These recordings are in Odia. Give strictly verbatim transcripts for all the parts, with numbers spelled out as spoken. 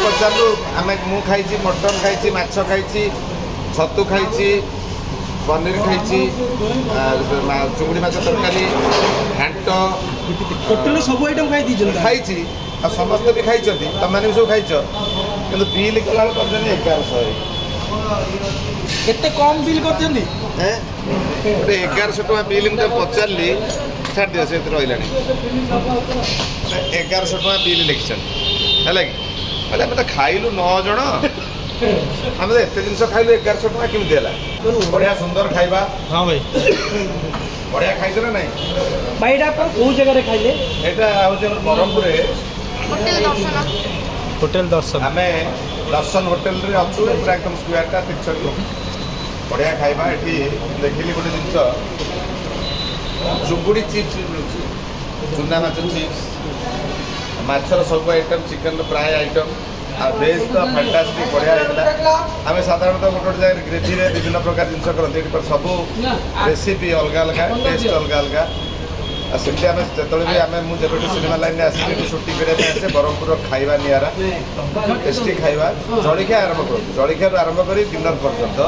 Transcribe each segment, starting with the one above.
ପଚାରିଲୁ ଆମେ ମୁଁ ଖାଇଛି ମଟନ୍ ଖାଇଛି ମାଛ ଖାଇଛି ଛତୁ ଖାଇଛି ପନିର ଖାଇଛି ଚୁଙ୍ଗୁଡ଼ି ମାଛ ତରକାରୀ ଘାଣ୍ଟ ହୋଟେଲରେ ସବୁ ଆଇଟମ୍ ଖାଇ ଦେଇଛନ୍ତି ଖାଇଛି ଆଉ ସମସ୍ତେ ବି ଖାଇଛନ୍ତି ତମମାନେ ବି ସବୁ ଖାଇଛ କିନ୍ତୁ ବିଲ୍ କଲାବେଳକୁ କରିଛନ୍ତି ଏଗାରଶହ କେତେ କମ୍ ବିଲ୍ କରିଛନ୍ତି ଗୋଟେ ଏଗାରଶହ ଟଙ୍କା ବିଲ୍ ମୁଁ ତାକୁ ପଚାରିଲି ଛାଡ଼ି ଦିଅ ସେ ରହିଲାଣି ଏଗାରଶହ ଟଙ୍କା ବିଲ୍ ଲେଖିଛନ୍ତି ହେଲା କି କହିଲେ ଆମେ ତ ଖାଇଲୁ ନଅ ଜଣ ଆମେ ତ ଏତେ ଜିନିଷ ଖାଇଲୁ ଏଗାରଶହ ଟଙ୍କା କେମିତି ହେଲା ବଢ଼ିଆ ସୁନ୍ଦର ଖାଇବା ହଁ ଭାଇ ବଢ଼ିଆ ଖାଇଛ ନା ନାଇଁ ଭାଇ ଏଇଟା ଆପଣ କୋଉ ଜାଗାରେ ଖାଇଲେ ଏଇଟା ହେଉଛି ଆମର ବ୍ରହ୍ମପୁରରେ ହୋଟେଲ ଦର୍ଶନ ହୋଟେଲ ଦର୍ଶନ ଆମେ ଦର୍ଶନ ହୋଟେଲରେ ଅଛୁ ପୁରା ଏକଦମ ସ୍କୋୟାରଟା ତିରିଶ ବଢ଼ିଆ ଖାଇବା ଏଠି ଦେଖିଲି ଗୋଟେ ଜିନିଷ ଚୁଙ୍ଗୁଡ଼ି ଚିପ୍ସ ବି ମିଳୁଛି ଚୁନା ମାଛ ଚିପ୍ସ ମାଛର ସବୁ ଆଇଟମ୍ ଚିକେନର ପ୍ରାୟ ଆଇଟମ୍ ଆଉ ଭେଜ୍ ତ ଫାଣ୍ଟାଷ୍ଟିକ୍ ବଢ଼ିଆ ହେଇଥିଲା ଆମେ ସାଧାରଣତଃ ଗୋଟେ ଗୋଟେ ଜାଗାରେ ଗ୍ରେଭିରେ ବିଭିନ୍ନ ପ୍ରକାର ଜିନିଷ କରନ୍ତି ଏଠି ସବୁ ରେସିପି ଅଲଗା ଅଲଗା ଟେଷ୍ଟ ଅଲଗା ଅଲଗା ଆଉ ସେମିତି ଆମେ ଯେତେବେଳେ ବି ଆମେ ମୁଁ ଯେବେଠୁ ସିନେମା ଲାଇନ୍ରେ ଆସିଲି ଏଠି ସୁଟିଂ କରିବା ପାଇଁ ଆସେ ବ୍ରହ୍ମପୁରର ଖାଇବା ନିଆରା ଟେଷ୍ଟି ଖାଇବା ଜଳଖିଆ ଆରମ୍ଭ କରନ୍ତୁ ଜଳଖିଆରୁ ଆରମ୍ଭ କରି ଡିନର ପର୍ଯ୍ୟନ୍ତ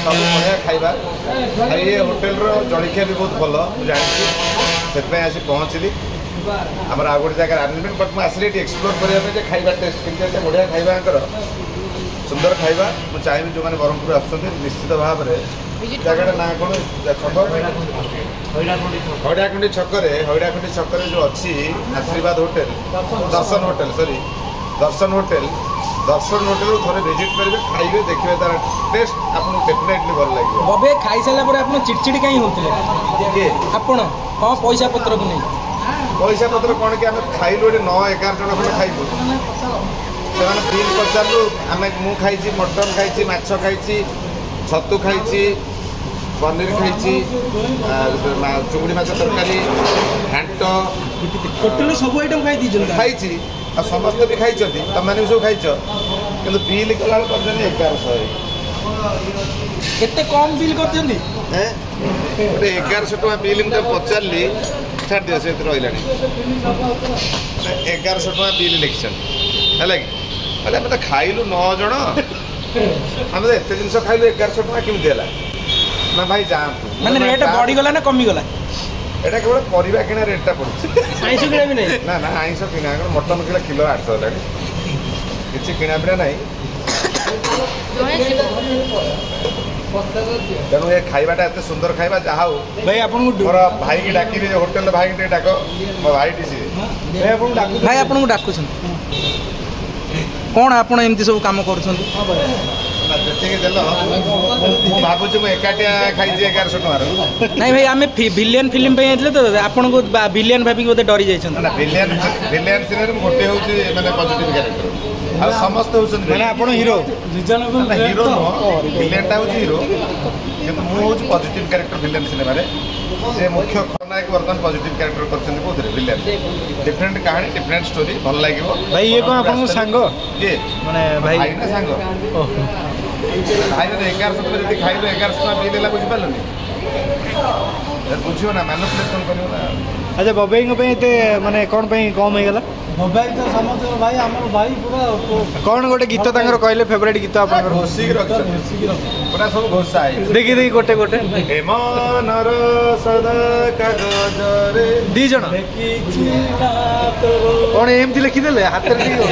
ସବୁ ବଢ଼ିଆ ଖାଇବା ଆଉ ଏ ହୋଟେଲର ଜଳଖିଆ ବି ବହୁତ ଭଲ ମୁଁ ଜାଣିଛି ସେଥିପାଇଁ ଆସି ପହଞ୍ଚିଲି ଆମର ଆଉ ଗୋଟେ ଜାଗାରେ ଆରେଞ୍ଜମେଣ୍ଟ ବଟ୍ ମୁଁ ଆସିଲି ଏଠି ଏକ୍ସପ୍ଲୋର କରିବା ପାଇଁ ଯେ ଖାଇବା ଟେଷ୍ଟ କେମିତି ଅଛି ବଢ଼ିଆ ଖାଇବା ଆଙ୍କର ସୁନ୍ଦର ଖାଇବା ମୁଁ ଚାହିଁବି ଯେଉଁମାନେ ବ୍ରହ୍ମପୁର ଆସୁଛନ୍ତି ନିଶ୍ଚିତ ଭାବରେ ଜାଗାଟା ନାଁ କ'ଣ ଛକ ହଇଡ଼ାଖୁଣ୍ଡି ଛକରେ ହଇଡ଼ାଖୁଣ୍ଡି ଛକରେ ଯେଉଁ ଅଛି ଆଶୀର୍ବାଦ ହୋଟେଲ ଦର୍ଶନ ହୋଟେଲ ସରି ଦର୍ଶନ ହୋଟେଲ ଦର୍ଶନ ହୋଟେଲରୁ ଥରେ ଭିଜିଟ୍ କରିବେ ଖାଇବେ ଦେଖିବେ ତାର ଟେଷ୍ଟ ଆପଣଙ୍କୁ ଡେଫିନେଟଲି ଭଲ ଲାଗିବ ବବେ ଖାଇସାରିଲା ପରେ ଆପଣ ଚିଡ଼ଚିଡ଼ି କାହିଁ ହେଉଥିଲେ କିଏ ଆପଣ ହଁ ପଇସା ପତ୍ରକୁ ନେଇ ପଇସା ପତ୍ର କ'ଣ କି ଆମେ ଖାଇଲୁ ଏଠି ନଅ ଏଗାର ଜଣ ଖଣ୍ଡେ ଖାଇଲୁ ସେମାନେ ବିଲ୍ ପଚାରିଲୁ ଆମେ ମୁଁ ଖାଇଛି ମଟନ୍ ଖାଇଛି ମାଛ ଖାଇଛି ଛତୁ ଖାଇଛି ପନିର ଖାଇଛି ଚୁଙ୍ଗୁଡ଼ି ମାଛ ତରକାରୀ ଘାଣ୍ଟ ହୋଟେଲରେ ସବୁ ଆଇଟମ୍ ଖାଇ ଦେଇଛନ୍ତି ଖାଇଛି ଆଉ ସମସ୍ତେ ବି ଖାଇଛନ୍ତି ତମମାନେ ବି ସବୁ ଖାଇଛ କିନ୍ତୁ ବିଲ୍ କଲାବେଳକୁ କରିଛନ୍ତି ଏଗାରଶହ କେତେ କମ୍ ବିଲ୍ କରିଛନ୍ତି ଗୋଟେ ଏଗାରଶହ ଟଙ୍କା ବିଲ୍ ମୁଁ ତାକୁ ପଚାରିଲି ଛାଡ଼ି ଦିଅ ସେ ରହିଲାଣି ଏଗାରଶହ ଟଙ୍କା ବିଲ୍ ଲେଖିଛନ୍ତି ହେଲା କି କହିଲେ ଆମେ ତ ଖାଇଲୁ ନଅ ଜଣ ଆମେ ତ ଏତେ ଜିନିଷ ଖାଇଲୁ ଏଗାରଶହ ଟଙ୍କା କେମିତି ହେଲା ନା ଭାଇ ଯାଆନ୍ତୁ ମାନେ ରେଟ୍ ବଢ଼ିଗଲା ନା କମିଗଲା ଏଇଟା କେବଳ ପରିବା କିଣା ରେଟ୍ଟା ପଡ଼ୁଛି ଆଇଁଷ କିଣା ବି ନାହିଁ ନା ନା ଆଇଁଷ କିଣା ମଟନ୍ କିଲୋ କିଲୋ ଆଠଶହ ହେଲାଣି କିଛି କିଣା ପିଣା ନାହିଁ ଜଣେ ଯିବ ତେଣୁ ଏ ଖାଇବାଟା ଏତେ ସୁନ୍ଦର ଖାଇବା ଯାହା ହଉ ଭାଇ ଆପଣଙ୍କୁ ମୋର ଭାଇକି ଡାକିବି ହୋଟେଲରେ ଭାଇକି ଟିକେ ଡାକ ମୋ ଭାଇଟି ସିଏ ଭାଇ ଆପଣଙ୍କୁ ଡାକୁଛନ୍ତି କ'ଣ ଆପଣ ଏମିତି ସବୁ କାମ କରୁଛନ୍ତି ନା, ଯେତିକି ଦେଲ ମୁଁ ଭାବୁଛି ମୁଁ ଏକାଟିଆ ଖାଇଛି ଏଗାରଶହ ଟଙ୍କାର ନାଇଁ ଭାଇ ଆମେ ଭିଲିଆନ ଫିଲ୍ମ ପାଇଁ ଯାଇଥିଲେ ତ ଆପଣଙ୍କୁ ଭିଲିଆନ ଭାବିକି ବୋଧେ ଡରି ଯାଇଛନ୍ତି ନା ଭିଲିଆନ ଭିଲିଆନ ସିନେମାରେ ମୁଁ ଗୋଟେ ହେଉଛି ମାନେ ପଜିଟିଭ କ୍ୟାରେକ୍ଟର ଆଉ ସମସ୍ତେ ହେଉଛନ୍ତି ମାନେ ଆପଣ ହିରୋ ନା ହିରୋ ନୁହଁ ଭିଲିଆନଟା ହେଉଛି ହିରୋ କିନ୍ତୁ ମୁଁ ହେଉଛି ପଜିଟିଭ କ୍ୟାରେକ୍ଟର ଭିଲିଆନ ସିନେମାରେ ସେ ମୁଖ୍ୟ ଖଳନାୟକ ବର୍ତ୍ତମାନ ପଜିଟିଭ କ୍ୟାରେକ୍ଟର କରିଛନ୍ତି କୋଉଥିରେ ଭିଲିଆନ ଡିଫରେଣ୍ଟ କାହାଣୀ ଡିଫରେଣ୍ଟ ଷ୍ଟୋରି ଭଲ ଲାଗିବ ଭାଇ ଇଏ କ'ଣ ଆପଣଙ୍କ ସାଙ୍ଗ କିଏ ମାନେ ଭାଇ ଭାଇ ନା ସାଙ୍ଗ ଓହୋ ଭାଇ ଯଦି ଏଗାରଶହ ଟଙ୍କା ଯଦି ଖାଇଲୁ ଏଗାରଶହ ଟଙ୍କା ବିଲ୍ ହେଲା ବୁଝିପାରିଲୁନି ବୁଝିବ ନା ମ୍ୟାନିପୁଲେସନ୍ କରିବ ନା ଆଚ୍ଛା ବବେଇଙ୍କ ପାଇଁ ଏତେ ମାନେ କ'ଣ ପାଇଁ କମ୍ ହେଇଗଲା ମୋବାଇଲ ତ ସମସ୍ତଙ୍କର ଭାଇ ଆମର ଭାଇ ପୁରା କ'ଣ ଗୋଟେ ଗୀତ ତାଙ୍କର କହିଲେ ଫେଭରାଇଟ୍ ଗୀତ ଆପଣଙ୍କର ଘୋଷିକି ରଖିଛନ୍ତି ଘୋଷିକି ରଖ ପୁରା ସବୁ ଘୋଷା ହେଇଛି ଦେଖି ଦେଖି ଗୋଟେ ଗୋଟେ ଏ ମନର ସଦା କାଗଜରେ ଦି ଜଣ ଲେଖିଛି ନା ତୋର କ'ଣ ଏମିତି ଲେଖିଦେଲେ ହାତରେ ଟିକେ